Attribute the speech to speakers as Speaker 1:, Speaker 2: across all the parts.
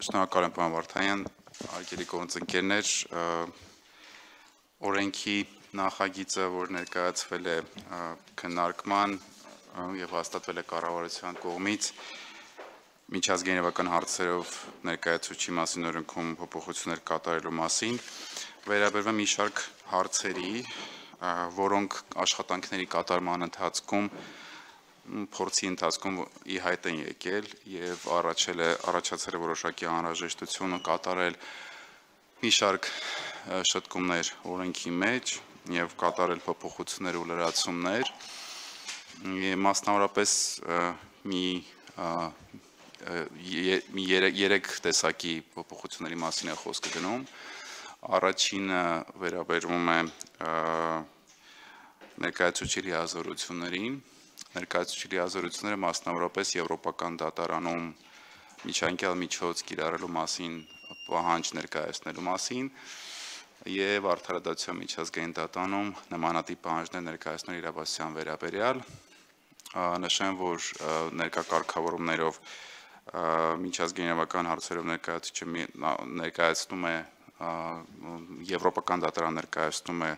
Speaker 1: Շնորհակալ եմ, պարոն Վարդանյան, հարգելի գործընկերներ, օրենքի նախագիծը, որ ներկայացվել է քննարկման եւ հաստատվել է կառավարության կողմից միջազգային իրավական հարցերով ներկայացուցչի մասին օրենքում փոփոխություններ կատարելու մասին, վերաբերվում մի շարք հարցերի, որոնք աշխատանքների կատարման ընթացքում փորձի ընթացքում ի հայտ են եկել եւ առաջացել է որոշակի անհրաժեշտություն կատարել մի շարք շտկումներ օրենքի մեջ եւ կատարել փոփոխություններ ու լրացումներ մասնավորապես երեք տեսակի փոփոխությունների մասին է խոսքը գնում առաջինը վերաբերվում է ներկայացուցչի լիազորություններին Ներկայացուցչի լիազորությունները մասնավորապես Եվրոպական դատարանում միջանկյալ միջոց կիրառելու մասին պահանջ ներկայացնելու մասին եւ արդարադատության միջազգային դատարանում նմանատիպ պահանջներ ներկայացնել իրավասության վերաբերյալ նշեմ, որ ներկա կարգավորումներով միջազգային իրավական հարցերով ներկայացուցիչը ներկայացնում է Եվրոպական դատարան ներկայացնում է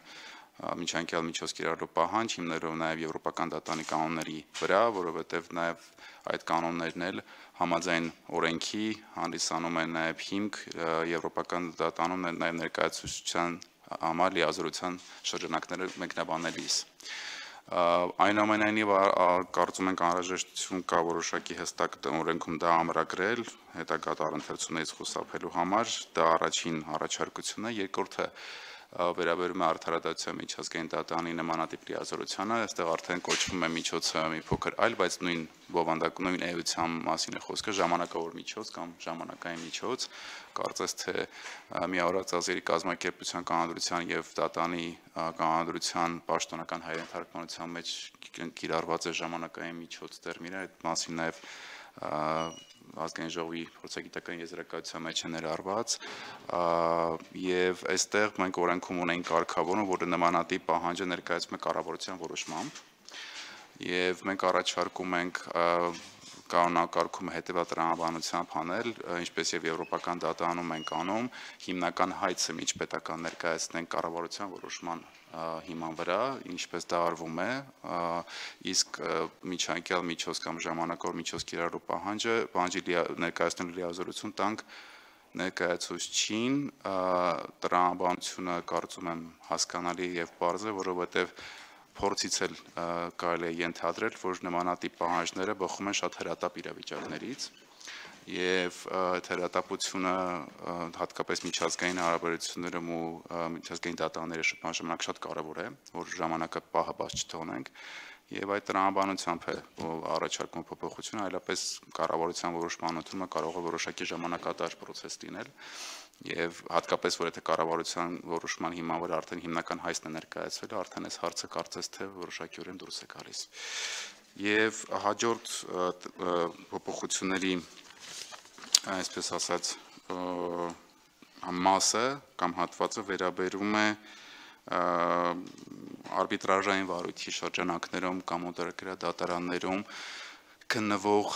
Speaker 1: միջանկյալ միջոց կիրառելու պահանջ հիմնելով նաև Եվրոպական դատարանի կանոնների վրա, որովհետև նաև այդ կանոններն էլ համաձայն օրենքի հանդիսանում են նաև հիմք Եվրոպական դատարանում նաև ներկայացուցչության համար լիազորության շրջանակները մեկնաբանելիս։ Այնուամենայնիվ կարծում ենք անհրաժեշտություն կա որոշակի հստակ օրենքում դա ամրագրել հետագա տարընթերցումներից խուսափելու համար, դա առաջին առաջարկությունն է, երկրորդը վերաբերում է արդարադատության միջազգային դատարանի նմանատիպ լիազորությանը, այստեղ արդեն կոչվում է միջոցը մի փոքր այլ, բայց նույն բովանդակ նույն էության մասին է խոսքը, ժամանակավոր միջոց կամ ժամանակային միջոց, կարծես թե միավորված ազգերի կազմակերպության կանոնադրության եւ դատարանի կանոնադրության պաշտոնական հայերեն թարգմանության մեջ կիրառված է ժամանակային միջոց տերմինը, այդ մասին նաեւ ազգային ժողովի փորձագիտական եզրակացության մեջ է ներառված եւ այստեղ մենք օրենքում ունենք կարգավորում, որը նմանատիպ պահանջը ներկայացում է կառավարության որոշմամբ եւ մենք առաջարկում ենք կանոնակարգումը հետեւյալ տրամաբանությամբ անել, ինչպես եւ Եվրոպական դատարանում ենք անում, հիմնական հայցը միջպետական ներկայացնենք կառավարության որոշման հիման վրա, ինչպես դա արվում է, իսկ միջանկյալ միջոց կամ ժամանակավոր միջոց կիրառելու պահանջի ներկայացնելու լիազորություն տանք ներկայացուցչին, տրամաբանությունը կարծում եմ հասկանալի եւ պարզ է, որովհետեւ փորձից էլ կարելի է ենթադրել, որ նմանատիպ պահանջները բխում են շատ հրատապ իրավիճակներից եւ այդ հրատապությունը հատկապես միջազգային հարաբերություններում ու միջազգային դատարանների շփման ժամանակ շատ կարեւոր է, որ ժամանակը պահը բաց չթողնենք եւ այդ տրամաբանությամբ է առաջարկում փոփոխությունը, այլապես կառավարության որոշման ընդունումը կարող է որոշակի ժամանակատար process լինել եւ հատկապես որ եթե կառավարության որոշման հիման վրա արդեն հիմնական հայցն է ներկայացվել, արդեն այս հարցը կարծես թե որոշակիորեն դուրս է գալիս։ Եվ հաջորդ փոփոխությունների այսպես ասած մասը կամ հատվածը վերաբերում է արբիտրաժային վարույթի շրջանակներում կամ օտարերկրյա քննվող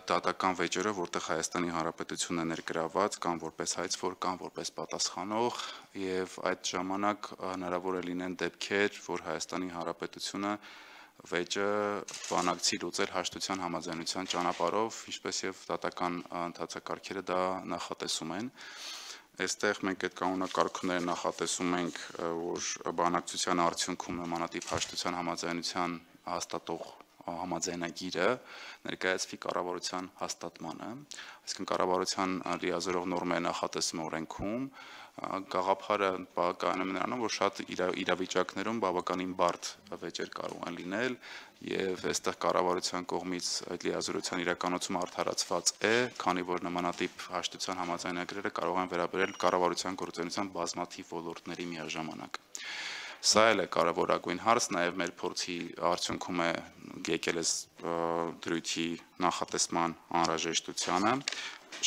Speaker 1: դատական վեճերը, որտեղ Հայաստանի Հանրապետությունն է ներգրաված կամ որպես հայցվոր կամ որպես պատասխանող եւ այդ ժամանակ հնարավոր է լինեն դեպքեր, որ Հայաստանի Հանրապետությունը վեճը բանակցի լուծել հաշտության համաձայնության ճանապարհով, ինչպես եւ դատական ընթացակարգերը դա նախատեսում են։ Այստեղ մենք այդ կանոնակարգումները նախատեսում ենք, որ բանակցության արդյունքում նմանատիպ հաշտության համաձայնության հաստատող համաձայնագիրը ներկայացվի կառավարության հաստատմանը, այսինքն կառավարության լիազորող նորմերը նախատեսում օրենքում, գաղափարը կայանում է նրանում, որ շատ իրավիճակներում բավականին բարդ վեճեր կարող են լինել եւ այստեղ կառավարության կողմից այդ լիազորության իրականացումը արդարացված է, քանի որ նմանատիպ հաշտության համաձայնագրերը կարող են վերաբերել կառավարության գործունեության բազմաթիվ ոլորտների միաժամանակ։ Սա էլ է կարևորագույն հարց, նաև մեր փորձի արդյունքում է եկել այս դրույթի նախատեսման անհրաժեշտությանը,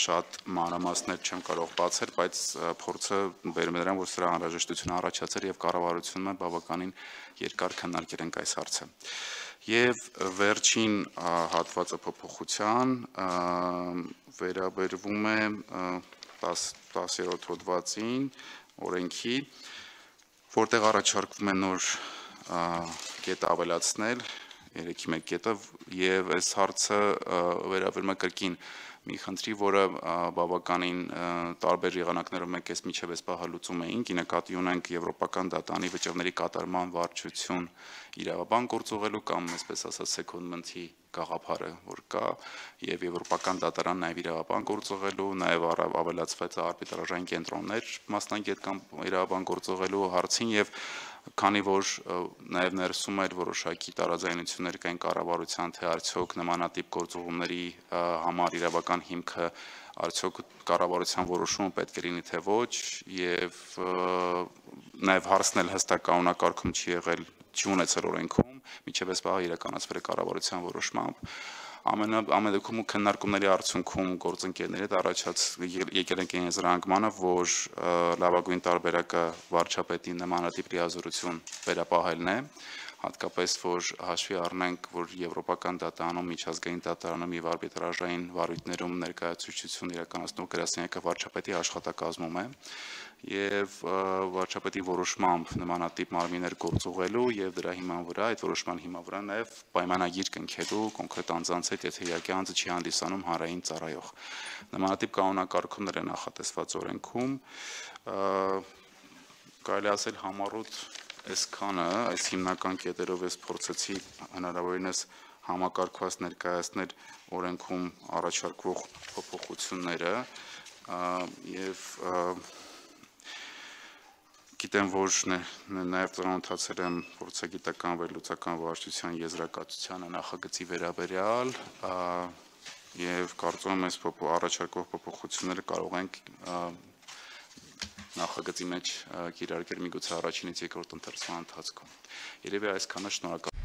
Speaker 1: շատ մանրամասներ չեմ կարող բացել, բայց փորձը բերում է նրան, որ սրա անհրաժեշտությունը առաջացել եւ կառավարությունը բավականին երկար քննարկել ենք այս հարցը։ Եվ վերջին հատվածը փոփոխության վերաբերվում է 10-րդ հոդվածին օրենքի, որտեղ առաջարկվում է նոր կետ ավելացնել, 3-1 կետը, եւ այս հարցը վերաբերում է կրկին մի խնդրի, որը բավականին տարբեր եղանակներով մենք այս միջև այս պահը լուծում էինք, ի նկատի ունենք Եվրոպական դատարանի վճռների կատարման վարչություն իրավաբան գործուղելու կամ այսպես ասած secondment-ի գաղափարը, որ կա, եւ Եվրոպական դատարան նաեւ իրավաբան գործուղելու, նաեւ ավելացված արբիտրաժային կենտրոններ մասնագետ կամ իրավաբան գործուղելու հարցին եւ քանի որ նաև ներսում էր որոշակի տարաձայնություններ կային կառավարության, թե արդյոք նմանատիպ գործողումների համար իրավական հիմքը արդյոք կառավարության որոշումը պետք է լինի թե ոչ, եւ նաև հարցն էլ հստակ կանոնակարգում չի եղել, չի ունեցել օրենքում, մինչև այս պահը իրականացվել է կառավարության որոշմամբ։ Ամեն դեպքում քննարկումների արդյունքում գործընկերների հետ եկել ենք այն զրանկմանը, որ լավագույն տարբերակը վարչապետի նմանատիպ լիազորություն վերապահելն է, հատկապես որ հաշվի առնենք, որ Եվրոպական դատարանում, միջազգային դատարանում եւ արբիտրաժային վարույթներում ներկայացուցչություն իրականացնող գրասենյակը վարչապետի աշխատակազմում է եւ վարչապետի որոշմամբ նմանատիպ մարմիններ գործուղելու եւ դրա հիման վրա, այդ որոշման հիման վրա նաեւ պայմանագիր կնքելու կոնկրետ անձանց հետ, եթե իհարկե անձը չի հանդիսանում հանրային ծառայող։ Նմանատիպ կանոնակարգումներ են նախատեսված օրենքում, կարելի ասել համառոտ այսքանը, այս հիմնական կետերով ես փորձեցի հնարավորինս համակարգված ներկայացնել օրենքում առաջարկվող փոփոխությունները եւ գիտեմ, որ նաև ծանոթացել եմ փորձագիտական վերլուծական վարչության եզրակացությանը նախագծի վերաբերյալ եւ կարծում եմ, այս առաջարկող փոփոխությունները կարող ենք նախագծի մեջ կիրարկել միգուցե առաջինից երկրորդ ընթերցման ընթացքում։ Երևի այսքանը, շնորհակալ